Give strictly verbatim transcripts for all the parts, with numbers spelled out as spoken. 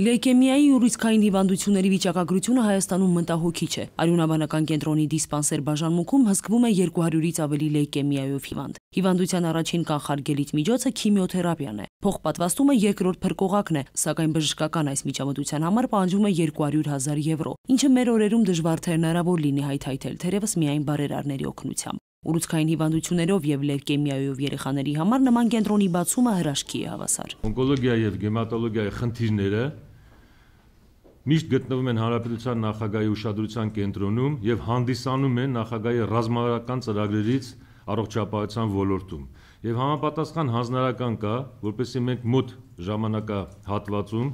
Լեյկեմիայի ուրուցքային հիվանդությունների վիճակագրությունը Հայաստանում մտահոգիչ է։ Արյունաբանական կենտրոնի դիսպանսեր բաժանմունքում հսկվում է երկու հարյուրից ավելի լեյկեմիայով հիվանդ։ Հիվանդության առաջին կանխարգելիչ միջոցը քիմիոթերապիան է։ Փոխպատվաստումը երկրորդ փրկողակն է, սակայն բժշկական այս միջամտության համար պահանջվում է երկու հարյուր հազար եվրո, ինչը մեր օրերում դժվար թե հնարավոր լինի հայթայթել, թերևս միայն բարերարների օգնությամբ։ Ուրուցքային հիվանդություններով եւ լեյկեմիայով երեխաների համար նման կենտրոնի բացումը հրաշքի է հավասար։ Օնկոլոգիա եւ գեմատոլոգիայի խնդիրները միշտ գտնվում են Հանրապետության նախագահի ուշադրության կենտրոնում եւ հանդիսանում են նախագահի ռազմավարական ծրագրերից առողջապահության ոլորտում։ Եվ համապատասխան հանձնարարական կա, որպեսզի մենք մոտ ժամանակահատվածում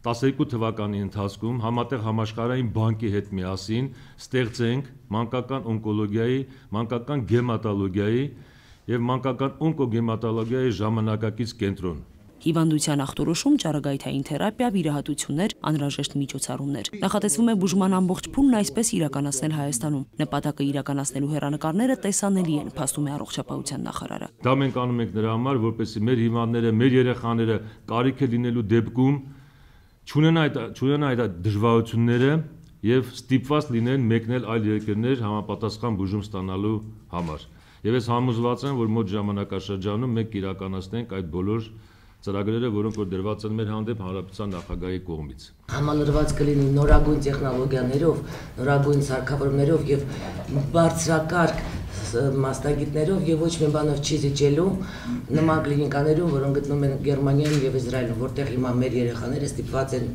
տասներկու թվականի ընթացքում համատեղ համաշխարհային բանկի հետ միասին ստեղծենք մանկական օնկոլոգիայի, մանկական գեմատոլոգիայի եւ մանկական օնկոգեմատոլոգիայի ժամանակակից կենտրոն։ Հիվանդության ախտորոշում, ճառագայթային թերապիա, վիրահատություններ, անհրաժեշտ միջոցառումներ։ Նախատեսվում է բուժման ամբողջ փուլն այսպես իրականացնել Հայաստանում։ Նպատակը իրականացնելու հեռանկարները տեսանելի են, փաստում է առողջապահության նախարարը։ Դա մենք անում ենք նրա համար, որպեսզի մեր հիվանդները, մեր երեխաները կարիք է լինելու դեպքում չունենան այդ դժվարությունները եւ ստիպված լինեն մեկնել այլ երկրներ համապատասխան բուժում ստանալու համար։ Եվ ես համոզված եմ, որ մոտ ժամանակաշրջանում մենք իրականացնենք այդ բոլոր ծրագրերը, որոնք որ դրված են մեր հանդեպ հանրապետության նախագահի կողմից։ Համալրված կլինի նորագույն տեխնոլոգիաներով, նորագույն սարքավորումներով եւ բարձրակարգ մասնագետներով եւ ոչ մի բանով չի զիջելու նման կլինիկաներում, որոնք գտնվում են Գերմանիայում եւ Իսրայելում, որտեղ հիմա մեր երեխաները ստիպված են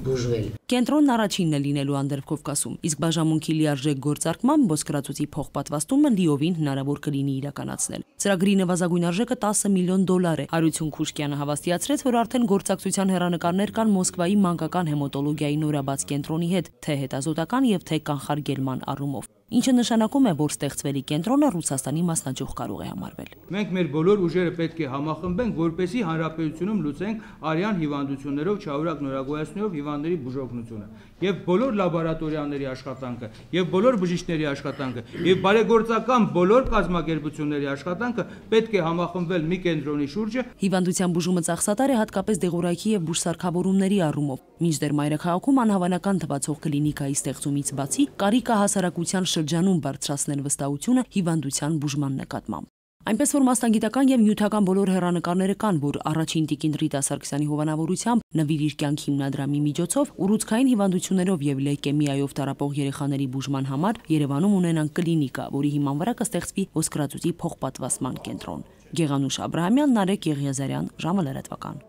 բուժվել։ Կենտրոնն առաջինն է լինելու Անդրկովկասում, իսկ բաժանմունքի լիարժեք գործարկմամբ ոսկրածուծի փոխպատվաստումը լիովին հնարավոր կլինի իրականացնել։ Ծրագրի նվազագույն արժեքը տասը միլիոն դոլար է։ Արություն Քուշկյանը հավաստիացրեց, որ արդեն գործակցության հեռանկարներ կան Մոսկվայի մանկական հեմատոլոգիայի նորաբաց կենտրոնի հետ, թե հետազոտական եւ թե կանխարգելման առումով, ինչը նշանակում է, որ ստեղծվելի կենտրոնը Ռուսաստանի մասնաճյուղ կարող է համարվել։ Մենք մեր բոլոր ուժերը պետք է համախմբենք, որպեսզի հանրապետությունում լուծենք արյան հիվանդություններով չարագ նորագոյացնելով հիվանդների բուժօգնությունը եւ բոլոր լաբորատորիաների աշխատանքը եւ բոլոր բժիշկների աշխատանքը եւ բարեգործական բոլոր կազմակերպությունների աշխատանքը պետք է համախմբվել մի կենտրոնի շուրջը։ Հիվանդության բուժումը ծախսատար է հատկապես դեղորայքի եւ բուժսարքավորումների առումով։ Մինչդեռ մայրաքաղաքում անհավանական թվացող կլինիկայի ստեղծումից բացի կարիք է հասարակության շրջանում բարձրացնել վստահությունը հիվանդության բուժման նկատմամբ։ Այնպես որ մասնագիտական եւ նյութական բոլոր հեռանկարները կան, որ առաջին տիկին Ռիտա Սարգսյանի հովանավորությամբ «Նվիր իր կյանք» հիմնադրամի միջոցով ուռուցքային հիվանդություններով եւ լեյկեմիայով տառապող երեխաների բուժման համար Երևանում ունենան կլինիկա, որի հիման վրա կստեղծվի ոսկրածուծի փոխպատվաստման կենտրոն։ Գեղանուշ Աբրահամյան, Նարեկ Եղիազարյան, ժամը լրատվական։